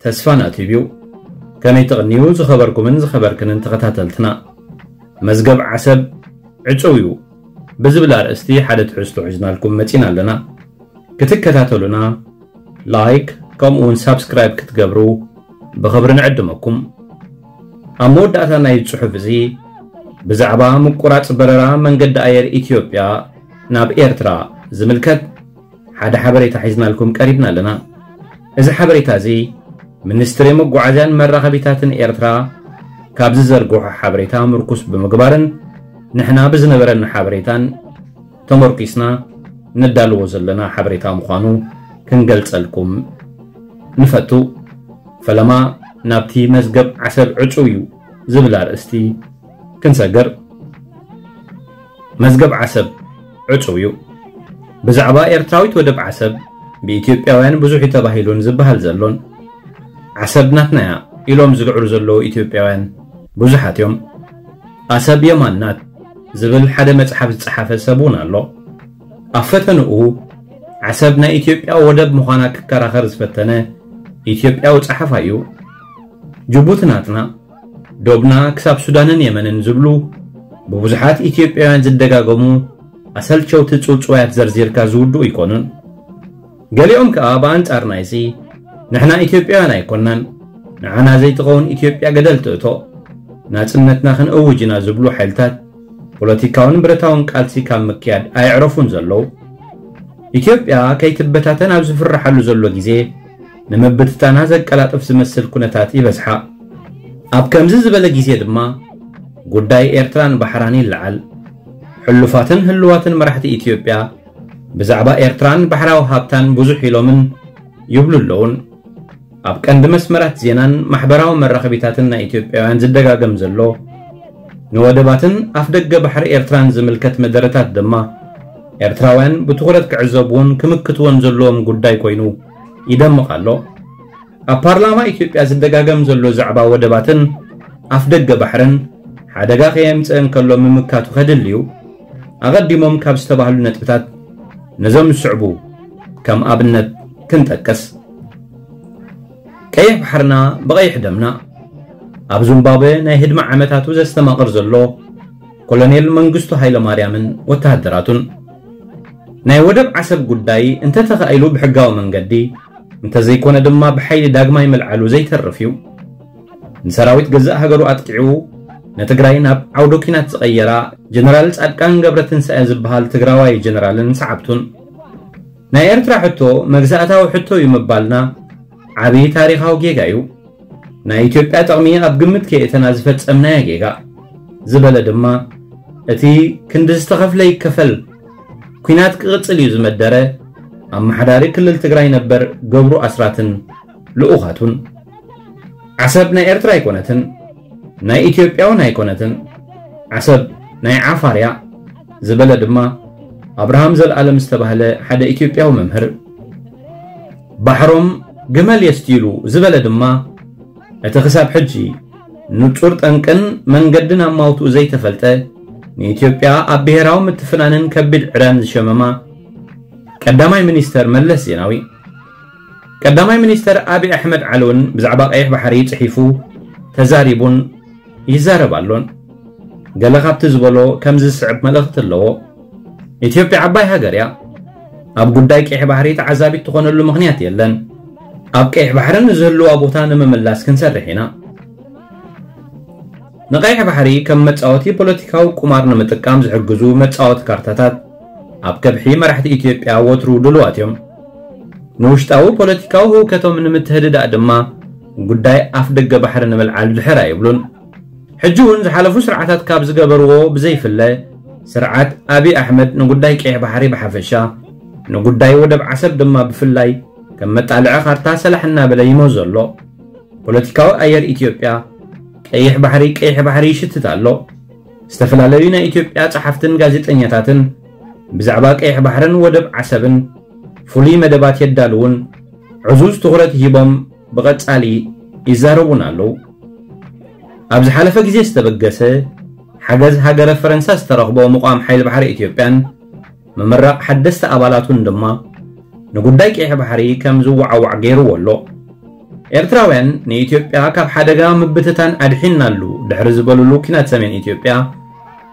ተስፋና ቲቪ እዩ። ከመይ ትቕንዩ ዝኸበርኩምን ዝኸበርክንን ተኸታተልትና? መዝገብ ዓሰብ ዕጹው እዩ ብዝብል ኣርእስቲ ሓደ ትሕዝቶ ሒዝናልኩም መጺና ኣለና። ክትከታተሉና ላይክ ከምኡ እውን ሳብስክራይብ ክትገብሩ ብኽብሪ ንዕድመኩም። ኣብ መወዳእታ ናይ ጽሑፍ እዚ ብዛዕባ ምቁራጽ በረራ መንገዲ ኣየር ኢትዮጵያ ናብ ኤርትራ ዝምልከት ሓደ ሓበሬታ ሒዝናልኩም ቀሪብና ኣለና። እዚ ሓበሬታ እዚ ሚኒስትሪ መጓዓዝያን መራኸቢታትን ኤርትራ ካብ ዝዘርግሖ ሓበሬታ ምርኩስ ብምግባርን ንሕና ብዝነበረና ሓበሬታን ተመርኪስና ነዳልዎ ዘለና ሓበሬታ ምዃኑ ክንገልጸልኩም ንፈቱ። ፈለማ ናብቲ መዝገብ ዓሰብ ዕጹው እዩ ዝብል ኣርእስቲ ክንሰግር። መዝገብ ዓሰብ ዕጹው እዩ። ብዛዕባ ኤርትራዊት ወደብ ዓሰብ ብኢትዮጵያውያን ብዙሕ እዩ ተባሂሉን ዝበሃል ዘሎን፣ ዓሰብ ናትና እያ ኢሎም ዝግዕሩ ዘለዉ ኢትዮጵያውያን ብዙሓት እዮም። ኣሰብ የማን ናት ዝብል ሓደ መጽሓፍ ዝጸሓፈ ሰብ እውን ኣሎ። ኣብ ፈተንኡ ዓሰብ ናይ ኢትዮጵያ ወደብ ምዃና ክከራኸር ዝፈተነ ኢትዮጵያዊ ጸሓፋይ እዩ። ጅቡቲ ናትና፣ ዶብና ክሳብ ሱዳንን የመንን ዝብሉ ብብዙሓት ኢትዮጵያውያን ዝደጋገሙ ኣሰልቸውቲ ጽውጽዋያት ዘርዚርካ ዝውድኡ ኣይኮኑን። ገሊኦም ከኣ ብኣንጻር ናይዚ ንሕና ኢትዮጵያውያን ኣይኮናን፣ ንዓና ዘይትኸውን ኢትዮጵያ ገደል ትእቶ፣ ናጽነትና ክንእውጅ ኢና ዝብሉ ሓይልታት ፖለቲካውን ብረታውን ቃልሲ ካብ ምክያድ ኣየዕረፉን ዘለዉ። ኢትዮጵያ ከይትበታተን ኣብ ዝፍርሓሉ ዘሎ ግዜ ንምብትታና ዘቀላጥፍ ዝመስል ኩነታት ይበዝሓ። ኣብ ከምዚ ዝበለ ግዜ ድማ ጉዳይ ኤርትራን ባሕራን ይለዓል። ሕሉፋትን ህልዋትን መራሕቲ ኢትዮጵያ ብዛዕባ ኤርትራን ባሕራዊ ሃብታን ብዙሕ ኢሎምን ይብሉ ኣለውን። ኣብ ቀንዲ መስመራት ዜናን ማሕበራዊ መራኸቢታትን ናይ ኢትዮጵያውያን ዝደጋገም ዘሎ ንወደባትን ኣፍደገ ባሕሪ ኤርትራን ዝምልከት መደረታት ድማ ኤርትራውያን ብትኹረት ክዕዘብዎን ክምክትዎን ዘለዎም ጉዳይ ኮይኑ ይደምቕ ኣሎ። ኣብ ፓርላማ ኢትዮጵያ ዝደጋገም ዘሎ ዛዕባ ወደባትን ኣፍደገ ባሕርን ሓደጋ ከየምጽእ እንከሎ ምምካቱ ከድሊ እዩ። ኣቐዲሞም ካብ ዝተባህሉ ነጥብታት ነዞም ዝስዕቡ ከም ኣብነት ክንጠቅስ። ቀይሕ ባሕርና ብቐይሕ ደምና ኣብ ዚምባብወ ናይ ህድማ ዓመታቱ ዘስተማቕር ዘሎ ኮሎኔል መንግስቱ ሃይለማርያምን ወተሃደራቱን። ናይ ወደብ ዓሰብ ጉዳይ እንተተኻኢሉ ብሕጋዊ መንገዲ፣ እንተዘይኮነ ድማ ብሓይሊ ዳግማይ ምልዓሉ ዘይተርፍ እዩ። ንሰራዊት ገዛእ ሃገሩ ኣጥቂዑ ንትግራይ ናብ ዓውደ ኲናት ዝቐየራ ጀነራል ጻድቃን ገብረትንሳኤ ዝበሃል ትግራዋይ ጀነራልን ሰዓብቱን። ናይ ኤርትራ ሕቶ መግዛእታዊ ሕቶ እዩ ምባልና ዓብዪ ታሪኻዊ ጌጋ እዩ። ናይ ኢትዮጵያ ጥቕሚ ኣብ ግምት ከየእተና ዝፈጸምናዮ ጌጋ ዝበለ ድማ፣ እቲ ክንዲ ዝተኸፍለ ይከፈል፣ ኲናት ክቕጽል እዩ ዝመደረ ኣመሓዳሪ ክልል ትግራይ ነበር ገብሩ ኣስራትን ልኡኻቱን። ዓሰብ ናይ ኤርትራ ኣይኮነትን፣ ናይ ኢትዮጵያ እውን ኣይኮነትን፣ ዓሰብ ናይ ዓፋር እያ ዝበለ ድማ ኣብርሃም ዘልኣለም ዝተባህለ ሓደ ኢትዮጵያዊ መምህር። ባሕሮም ግመል የስትይሉ ዝበለ ድማ እቲ ክሳብ ሕጂ ንጹር ጠንቅን መንገድን ኣማውትኡ ዘይተፈልጠ፣ ንኢትዮጵያ ኣብ ብሄራዊ ምትፍናንን ከቢድ ዕዳን ዝሸመማ ቀዳማይ ሚኒስተር መለስ ዜናዊ። ቀዳማይ ሚኒስተር ኣብይ ኣሕመድ ዓሊ እውን ብዛዕባ ቀይሕ ባሕሪ ጽሒፉ፣ ተዛሪቡን ይዛረብ ኣሎን። ገለ ካብቲ ዝበሎ ከምዚ ዝስዕብ መልእኽቲ ኣለዎ። ኢትዮጵያ ዓባይ ሃገር እያ። ኣብ ጉዳይ ቀይሕ ባሕሪ ተዓዛቢት ትኾነሉ ምኽንያት የለን። ኣብ ቀይሕ ባሕሪ ንዝህልዋ ቦታ ንምምላስ ክንሰርሕ ኢና። ንቀይሕ ባሕሪ ከም መጻወቲ ፖለቲካዊ ቁማር ንምጥቃም ዝሕግዙ መጻወቲ ካርታታት ኣብ ከብሒ መራሕቲ ኢትዮጵያ ወትሩ ድሉዋት እዮም። ንውሽጣዊ ፖለቲካዊ ህውከቶም ንምትህድዳእ ድማ ጉዳይ ኣፍ ደገ ባሕሪ ንምልዓል ድሕር ኣይብሉን። ሕጂ እውን ዝሓለፉ ስርዓታት ካብ ዝገበርዎ ብዘይፍለ፣ ስርዓት ኣብይ ኣሕመድ ንጉዳይ ቀይሕ ባሕሪ ብሓፈሻ፣ ንጉዳይ ወደብ ዓሰብ ድማ ብፍላይ ከም መጣልዒ ካርታ ሰላሕ እናበለ ይመዞ ኣሎ። ፖለቲካዊ ኣየር ኢትዮጵያ ቀይሕ ባሕሪ፣ ቀይሕ ባሕሪ ይሽትት ኣሎ። ዝተፈላለዩ ናይ ኢትዮጵያ ጸሓፍትን ጋዜጠኛታትን ብዛዕባ ቀይሕ ባሕርን ወደብ ዓሰብን ፍሉይ መደባት የዳልዉን ዕዙዝ ትኹረት ሂቦም ብቐጻሊ ይዛረቡን ኣለዉ። ኣብ ዝሓለፈ ግዜ ዝተበገሰ ሓገዝ ሃገረ ፈረንሳ ዝተረኽቦ ምቋም ሓይሊ ባሕሪ ኢትዮጵያን ምምራቕ ሓደስቲ ኣባላቱን ድማ ንጉዳይ ቀይሕ ባሕሪ ከም ዝወዓዋዕ ገይርዎ ኣሎ። ኤርትራውያን ንኢትዮጵያ ካብ ሓደጋ ምብትታን ኣድሒንናሉ ድሕሪ ዝበሉሉ ኲናት ሰሜን ኢትዮጵያ፣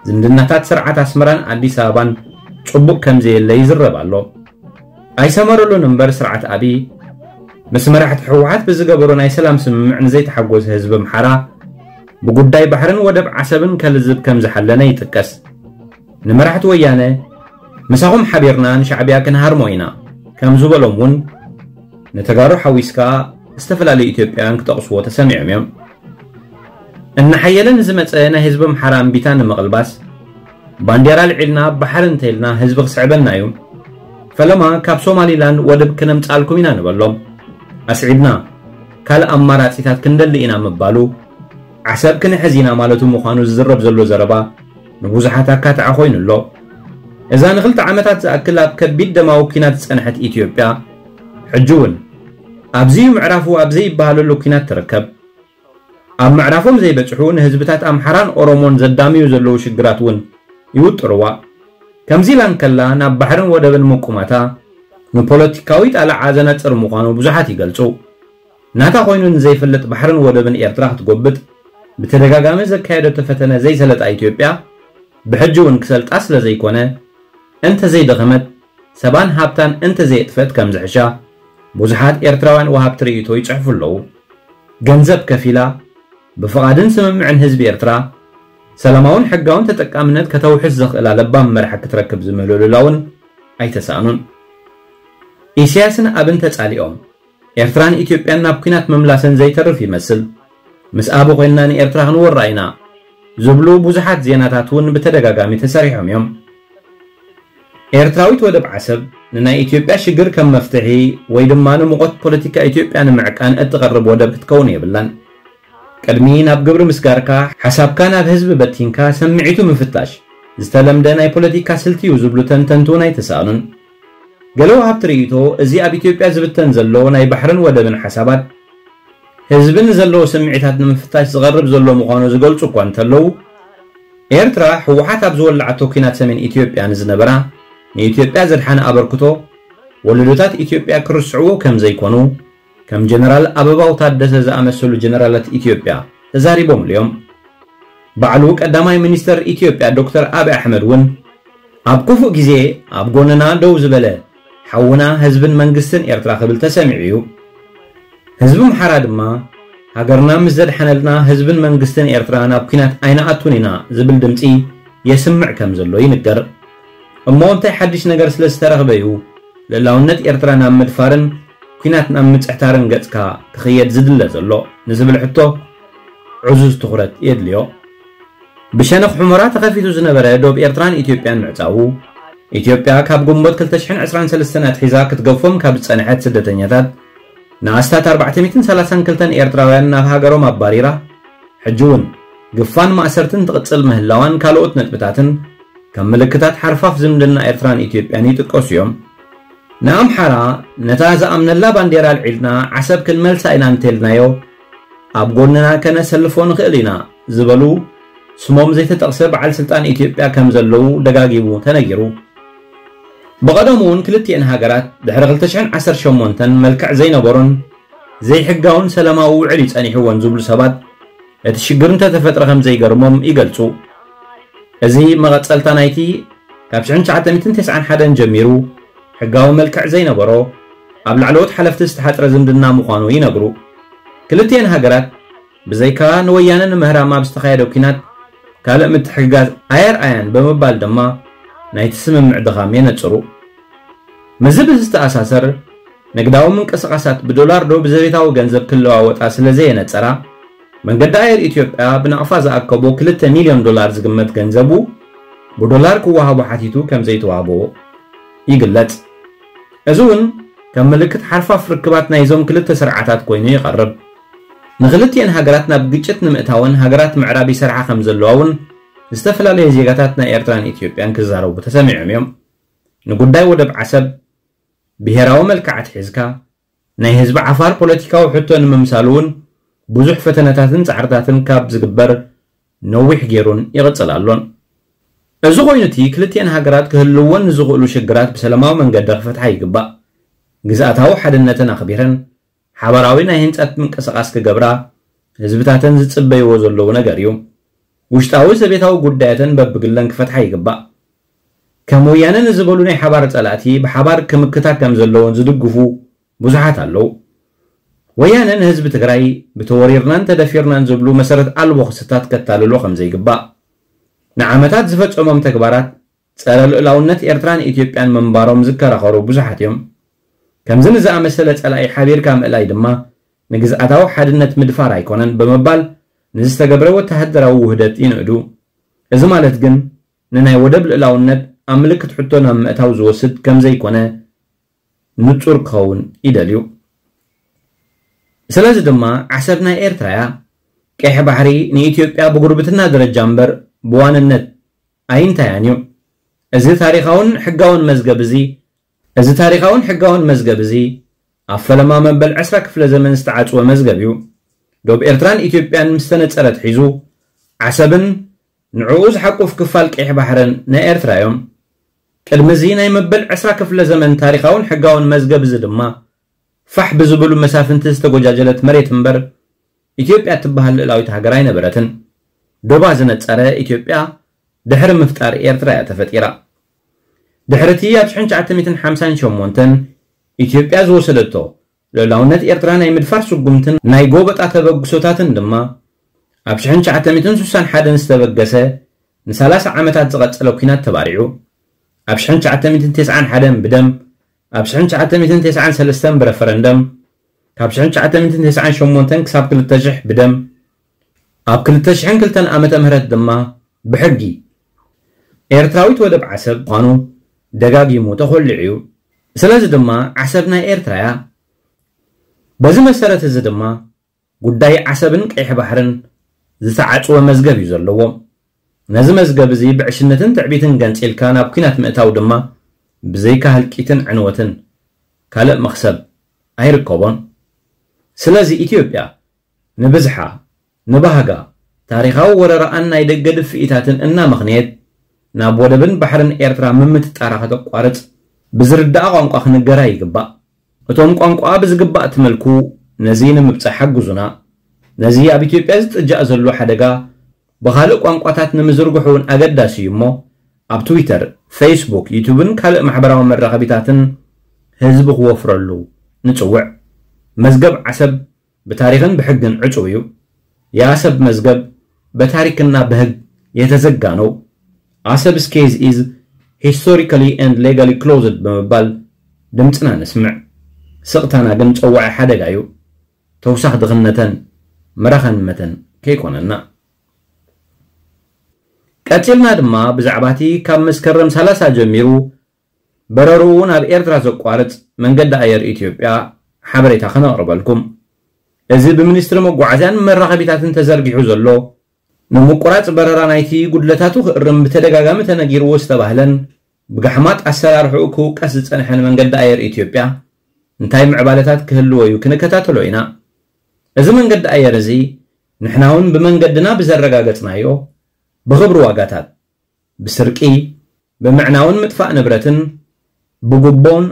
ዝምድናታት ስርዓት ኣስመራን ኣዲስ ኣበባን ጽቡቕ ከም ዘየለ ይዝረብ ኣሎ። ኣይሰመረሉን እምበር፣ ስርዓት ኣቢ ምስ መራሕቲ ህወሓት ብዝገበሮ ናይ ሰላም ስምምዕ ንዘይተሓጎሰ ህዝቢ ኣምሓራ ብጉዳይ ባሕርን ወደብ ዓሰብን ከልዝብ ከም ዝሓለነ ይጥቀስ። ንመራሕቲ ወያነ፣ "ምሳኹም ሓቢርና ንሻዕብያ ክንሃርሞ ኢና" ከም ዝበሎም እውን፣ ንተጋሩ ሓዊስካ ዝተፈላለዩ ኢትዮጵያውያን ክጠቕስዎ ተሰሚዖም እዮም። እናሓየለ ንዝመጸ ናይ ህዝቢ ኣምሓራ እምቢታ ንምቕልባስ፣ ባንዴራ ኣልዒልና ባሕሪ እንተኢልና ህዝቢ ክስዕበና እዩ። ፈለማ ካብ ሶማሊላንድ ወደብ ክነምጻልኩም ኢና ንበሎም። ኣስዒብና ካልእ ኣማራጺታት ክንደሊ ኢና ምባሉ፣ ዓሰብ ክንሕዝ ኢና ማለቱ ምዃኑ ዝዝረብ ዘሎ ዘረባ ንብዙሓት ኣካትዓ ኮይኑ ኣሎ። እዛ ንኽልተ ዓመታት ዝኣክል ኣብ ከቢድ ደማዊ ኲናት ዝጸንሐት ኢትዮጵያ፣ ሕጂ እውን ኣብዚዩ ምዕራፉ ኣብ ዘይበሃለሉ ኲናት ትርከብ። ኣብ ምዕራፎም ዘይበጽሑ ንህዝብታት ኣምሓራን ኦሮሞን ዘዳምዩ ዘለዉ ሽግራት እውን ይውጥርዋ። ከምዚ ኢላ እንከላ ናብ ባሕርን ወደብን ምቁማታ ንፖለቲካዊ ጣልዓ ዘነጽር ምዃኑ ብዙሓት ይገልጹ። ናታ ኮይኑ ንዘይፈልጥ ባሕርን ወደብን ኤርትራ ክትጎብጥ ብተደጋጋሚ ዘካየደቶ ፈተነ ዘይሰለጣ ኢትዮጵያ፣ ብሕጂ እውን ክሰልጣ ስለ ዘይኮነ፣ እንተ ዘይደኸመት፣ ሰባን ሃብታን እንተ ዘየጥፈት ከም ዝሕሻ ብዙሓት ኤርትራውያን ወሃብቲ ርእይቶ ይጽሕፉ ኣለዉ። ገንዘብ ከፊላ፣ ብፍቓድን ስምምዕን ህዝቢ ኤርትራ፣ ሰላማውን ሕጋውን ተጠቃምነት ከተውሕስ ዘኽእላ ለባም መራሒ ክትረክብ ዝምህልሉላ እውን ኣይተሳእኑን። ኢሳያስን ኣብን ተጻሊኦም፣ ኤርትራን ኢትዮጵያን ናብ ኲናት ምምላሰን ዘይተርፍ ይመስል። ምስ ኣቢ ኮይንና ንኤርትራ ክንወራ ኢና ዝብሉ ብዙሓት ዜናታት እውን ብተደጋጋሚ ተሰሪሖም እዮም። ኤርትራዊት ወደብ ዓሰብ ንናይ ኢትዮጵያ ሽግር ከም መፍትሒ ወይ ድማ ንሙቐት ፖለቲካ ኢትዮጵያ ንምዕቃን እትቐርብ ወደብ ክትከውን የብላን። ቅድሚ ናብ ግብሪ ምስጋርካ፣ ሓሳብካ ናብ ህዝቢ በቲንካ ሰምዒቱ ምፍታሽ ዝተለምደ ናይ ፖለቲካ ስልቲ እዩ ዝብሉ ተንተንቲ እውን ኣይተሳእኑን። ገለ ወሃብቲ ርእይቶ፣ እዚ ኣብ ኢትዮጵያ ዝብተን ዘሎ ናይ ባሕርን ወደብን ሓሳባት፣ ህዝቢ ንዘለዎ ስምዒታት ንምፍታሽ ዝቐርብ ዘሎ ምዃኑ ዝገልጹ እኳ እንተለዉ፣ ኤርትራ ህወሓት ኣብ ዝወለዓቶ ኲናት ሰሜን ኢትዮጵያ ንዝነበራ ንኢትዮጵያ ዘድሓነ ኣበርክቶ፣ ወለዶታት ኢትዮጵያ ክርስዕዎ ከም ዘይኮኑ፣ ከም ጀነራል ኣበባው ታደሰ ዝኣመሰሉ ጀነራላት ኢትዮጵያ ተዛሪቦምሉ እዮም። ባዕሉ ቀዳማይ ሚኒስተር ኢትዮጵያ ዶክተር ኣቢ ኣሕመድ እውን፣ "ኣብ ክፉእ ግዜ ኣብ ጎንና ደው ዝበለ ሓውና ህዝብን መንግስትን ኤርትራ" ክብል ተሰሚዑ እዩ። ህዝቢ ኣምሓራ ድማ፣ "ሃገርና ምስ ዘድሓነልና ህዝብን መንግስትን ኤርትራ ናብ ኲናት ኣይንኣቱን ኢና" ዝብል ድምጺ የስምዕ ከም ዘሎ ይንገር። እሞ እንታይ ሓድሽ ነገር ስለ ዝተረኽበ እዩ ልእላውነት ኤርትራ ናብ ምድፋርን ኲናት ናብ ምጽሕታርን ገጽካ ክኽየድ ዝድለ ዘሎ ንዝብል ሕቶ ዕዙዝ ትኹረት የድልዮ። ብሸነኽ ሑመራ ተኸፊቱ ዝነበረ ዶብ ኤርትራን ኢትዮጵያን ምዕጻዉ፣ ኢትዮጵያ ካብ ግንቦት ክልተ ሽሕን ዕስራን ሰለስተን ኣትሒዛ ክትገፎም ካብ ዝጸንሐት ስደተኛታት ንኣስታት ኣርባዕተ ሚእትን ሰላሳን ክልተን ኤርትራውያን ናብ ሃገሮም ኣባሪራ፣ ሕጂ እውን ግፋን ማእሰርትን ትቕጽል ምህላዋን ካልኦት ነጥብታትን ከም ምልክታት ሓርፋፍ ዝምድና ኤርትራን ኢትዮጵያን ይጥቀሱ እዮም። ንኣምሓራ ነታ ዝኣምነላ ባንዴራ ኣልዒልና ዓሰብ ክንመልሳ ኢና እንተልናዮ፣ ኣብ ጎንና ከነሰልፎ ንኽእል ኢና ዝበሉ ስሞም ዘይተጠቕሰ በዓል ስልጣን ኢትዮጵያ ከም ዘለዉ ደጋጊሙ ተነጊሩ። ብቐደሙ እውን ክልቲኤን ሃገራት ድሕሪ ክልተ ሽሕን ዓሰርተ ሸሞንተን መልክዕ ዘይነበሮን ዘይሕጋውን ሰላማዊ ውዕል እዩ ጸኒሕወን ዝብሉ ሰባት፣ እቲ ሽግር እንተተፈጥረ ከም ዘይገርሞም ይገልጹ። እዚ መቐጸልታ ናይቲ ካብ ሽሕን ትሽዓተ ሚእትን ተስዓን ሓደን ጀሚሩ ሕጋዊ መልክዕ ዘይነበሮ፣ ኣብ ላዕለዎት ሓለፍቲ ዝተሓጽረ ዝምድና ምዃኑ ይነግሩ። ክልቲኤን ሃገራት ብዘይካ ንወያነ ንምህራም ኣብ ዝተኻየደ ኲናት ካልእ ምትሕግጋዝ ኣየርኣያን ብምባል ድማ ናይቲ ስምምዕ ድኻም የነጽሩ። ምስዚ ብዝተኣሳሰር፣ ንግዳዊ ምንቅስቓሳት ብዶላር ዶ ብዘቤታዊ ገንዘብ ክለዋወጣ ስለ ዘየነጸራ፣ መንገዲ ኣየር ኢትዮጵያ ብናቕፋ ዝኣከቦ ክልተ ሚልዮን ዶላር ዝግመት ገንዘቡ ብዶላር ክወሃቦ ሓቲቱ ከም ዘይተዋህቦ ይግለጽ። እዚ እውን ከም ምልክት ሓርፋፍ ርክባት ናይዞም ክልተ ስርዓታት ኮይኑ ይቐርብ። ንክልቲኤን ሃገራት ናብ ግጭት ንምእታወን ሃገራት ምዕራብ ይሰርሓ ከም ዘለዋ እውን ዝተፈላለዩ ዜጋታት ናይ ኤርትራን ኢትዮጵያን ክዛረቡ ተሰሚዖም እዮም። ንጉዳይ ወደብ ዓሰብ ብሄራዊ መልክዕ ኣትሒዝካ ናይ ህዝቢ ዓፋር ፖለቲካዊ ሕቶ ንምምሳል እውን ብዙሕ ፈተነታትን ጻዕርታትን ካብ ዝግበር ነዊሕ ገይሩን ይቕጽል ኣሎን። እዚ ኮይኑ እቲ ክልቲኤን ሃገራት ክህልወን ንዝኽእሉ ሽግራት ብሰላማዊ መንገዲ ክፈትሓ ይግባእ። ግዝኣታዊ ሓድነተን ኣኽቢረን ሓባራዊ ናይ ህንጸት ምንቅስቓስ ክገብራ ህዝብታተን ዝጽበይዎ ዘለዉ ነገር እዩ። ውሽጣዊ ዘቤታዊ ጉዳያተን በብግለን ክፈትሓ ይግባእ። ከም ወያነ ንዝበሉ ናይ ሓባር ጸላእቲ ብሓባር ክምክታ ከም ዘለዎን ዝድግፉ ብዙሓት ኣለዉ። ወያነ ንህዝቢ ትግራይ ብተወሪርናን ተደፊርናን ዝብሉ መሰረት ኣልቦ ክስታት ከታልሎ ከም ዘይግባእ፣ ንዓመታት ዝፈጸሞም ተግባራት ጸረ ልኡላውነት ኤርትራን ኢትዮጵያን ምንባሮም ዝከራኸሩ ብዙሓት እዮም። ከምዚ ንዝኣመሰለ ጸላኢ ሓቢርካ ምእላይ ድማ ንግዝኣታዊ ሓድነት ምድፋር ኣይኮነን ብምባል ንዝተገብረ ወተሃደራዊ ውህደት ይንእዱ። እዚ ማለት ግን ንናይ ወደብ ልኡላውነት ኣብ ምልክት ሕቶ ናብ ምእታው ዝወስድ ከም ዘይኮነ ንጹር ክኸውን ይደልዩ። ስለዚ ድማ ዓሰብ ናይ ኤርትራ እያ። ቀይሕ ባሕሪ ንኢትዮጵያ ብጉርብትና ደረጃ እምበር ብዋንነት ኣይንታያን እዩ። እዚ ታሪኻውን ሕጋውን መዝገብ እዚ እዚ ታሪኻውን ሕጋውን መዝገብ እዚ ኣብ ፈለማ መበል ዕስራ ክፍለ ዘመን ዝተዓጽወ መዝገብ እዩ። ዶብ ኤርትራን ኢትዮጵያን ምስ ተነጸረ ኣትሒዙ ዓሰብን ንዕኡ ዝሓቁፍ ክፋል ቀይሕ ባሕርን ናይ ኤርትራ እዮም። ቅድሚ እዚ ናይ መበል ዕስራ ክፍለ ዘመን ታሪኻውን ሕጋውን መዝገብ እዚ ድማ ፋሕ ብዝብሉ መሳፍንቲ ዝተጎጃጀለት መሬት እምበር ኢትዮጵያ እትበሃል ልእላዊት ሃገር ኣይነበረትን። ዶባ ዝነጸረ ኢትዮጵያ ድሕሪ ምፍጣር ኤርትራ እያ ተፈጢራ። ድሕሪ እቲ ኣብ ሽሕን ትሽዓተ ሚእትን ሓምሳን ሸሞንተን ኢትዮጵያ ዝወሰደቶ ልእላውነት ኤርትራ ናይ ምድፋር ስጉምትን ናይ ጎበጣ ተበግሶታትን ድማ ኣብ ሽሕን ትሽዓተ ሚእትን ስሳን ሓደን ዝተበገሰ ንሰላሳ ዓመታት ዝቐጸለ ኲናት ተባሪዑ። ኣብ ሽሕን ትሽዓተ ሚእትን ተስዓን ሓደን ብደም፣ ኣብ ሽሕን ትሽዓተ ሚእትን ተስዓን ሰለስተን ብረፈረንደም፣ ካብ ሽሕን ትሽዓተ ሚእትን ተስዓን ሸሞንተን ክሳብ ክልተ ሽሕ ብደም፣ ኣብ ክልተ ሽሕን ክልተን ዓመተ ምህረት ድማ ብሕጊ ኤርትራዊት ወደብ ዓሰብ ምዃኑ ደጋጊሙ ተኾሊዑ እዩ። ስለዚ ድማ ዓሰብ ናይ ኤርትራ እያ። በዚ መሰረት እዚ ድማ ጉዳይ ዓሰብን ቀይሕ ባሕርን ዝተዓጽወ መዝገብ እዩ ዘለዎ። ነዚ መዝገብ እዚ ብዕሽነትን ትዕቢትን ገንጺልካ ናብ ኲናት ምእታው ድማ ብዘይካ ህልቂትን ዕንወትን ካልእ መኽሰብ ኣይርከቦን። ስለዚ ኢትዮጵያ ንብዝሓ፣ ንባህጋ፣ ታሪኻዊ ወረራኣን ናይ ደገ ድፍኢታትን እናመኽነየት ናብ ወደብን ባሕርን ኤርትራ ምምጥጣራ ከተቋርጽ ብዝርዳኣ ቋንቋ ክንገራ ይግባእ። እቶም ቋንቋኣ ብዝግባእ ትመልኩ ነዚ ንምብጻሕ ሓግዙና። ነዚ ኣብ ኢትዮጵያ ዝጥጃእ ዘሎ ሓደጋ ብኻልእ ቋንቋታት ንምዝርግሑ እውን ኣገዳሲ እዩ እሞ ኣብ ትዊተር፣ ፌስቡክ፣ ዩቱብን ካልእ ማሕበራዊ መራኸቢታትን ህዝቢ ክወፍረሉ ንጽውዕ። መዝገብ ዓሰብ ብታሪኽን ብሕግን ዕጹው እዩ። የኣሰብ መዝገብ በታሪክና በህግ የተዘጋ ነው። Aseb's case is historically and legally closed ብምባል ድምፅና ነስምዕ። ስቕታና ግን ፀዋዒ ሓደጋ እዩ። ተውሳኽ ድኽነተን መራኸን መተን ከይኮነና። ቀፂልና ድማ ብዛዕባ እቲ ካብ መስከረም ሰላሳ ጀሚሩ በረርኡ ናብ ኤርትራ ዘቋርፅ መንገዲ ኣየር ኢትዮጵያ ሓበሬታ ከነቕርበልኩም። እዚ ብሚኒስትሪ መጓዓዝያን መራኸቢታትን ተዘርጊሑ ዘሎ ንምቁራፅ በረራ ናይቲ ጉድለታቱ ክእርም ብተደጋጋሚ ተነጊርዎ ዝተባህለን ብጋሕማጥ ኣሰራርሕኡ ክውቀስ ዝፀንሐን መንገዲ ኣየር ኢትዮጵያ እንታይ ምዕባለታት ክህልዎ እዩ ክንከታተሎ ኢና። እዚ መንገዲ ኣየር እዚ ንሕና እውን ብመንገድና ብዘረጋገፅናዮ ብኽብሪ ዋጋታት ብስርቂ፣ ብምዕናውን ምጥፋእ ንብረትን ብጉቦን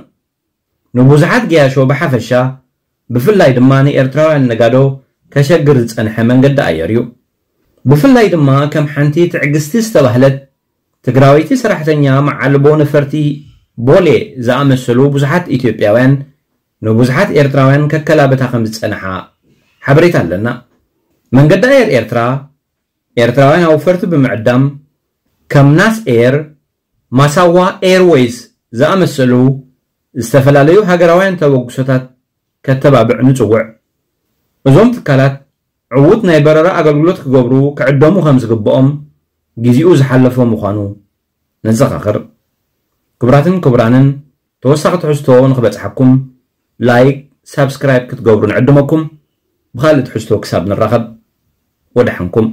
ንብዙሓት ገያሾ ብሓፈሻ ብፍላይ ድማ ንኤርትራውያን ነጋዶ ከሸግር ዝጸንሐ መንገዲ ኣየር እዩ። ብፍላይ ድማ ከም ሓንቲ ትዕግስቲ ዝተባህለት ትግራወይቲ ሰራሕተኛ መዓልቦ ነፈርቲ ቦሌ ዝኣመሰሉ ብዙሓት ኢትዮጵያውያን ንብዙሓት ኤርትራውያን ከከላብታ ከም ዝጸንሓ ሓበሬታ ኣለና። መንገዲ ኣየር ኤርትራ ኤርትራውያን ኣውፈርቲ ብምዕዳም ከም ናስ ኤር፣ ማሳዋ ኤርወይስ ዝኣመሰሉ ዝተፈላለዩ ሃገራውያን ተበግሶታት ከተባብዕ ንጽውዕ። እዞም ትካላት ዕዉት ናይ በረራ ኣገልግሎት ክገብሩ ክዕደሙ ከም ዝግብኦም ግዜኡ ዝሓለፎ ምዃኑ ነዘኻኽር። ክቡራትን ክቡራንን ተወሳኺ ትሕዝቶ ንኽበጽሓኩም ላይክ፣ ሳብስክራይብ ክትገብሩ ንዕድመኩም። ብኻልእ ትሕዝቶ ክሳብ ንራኸብ ወደሓንኩም።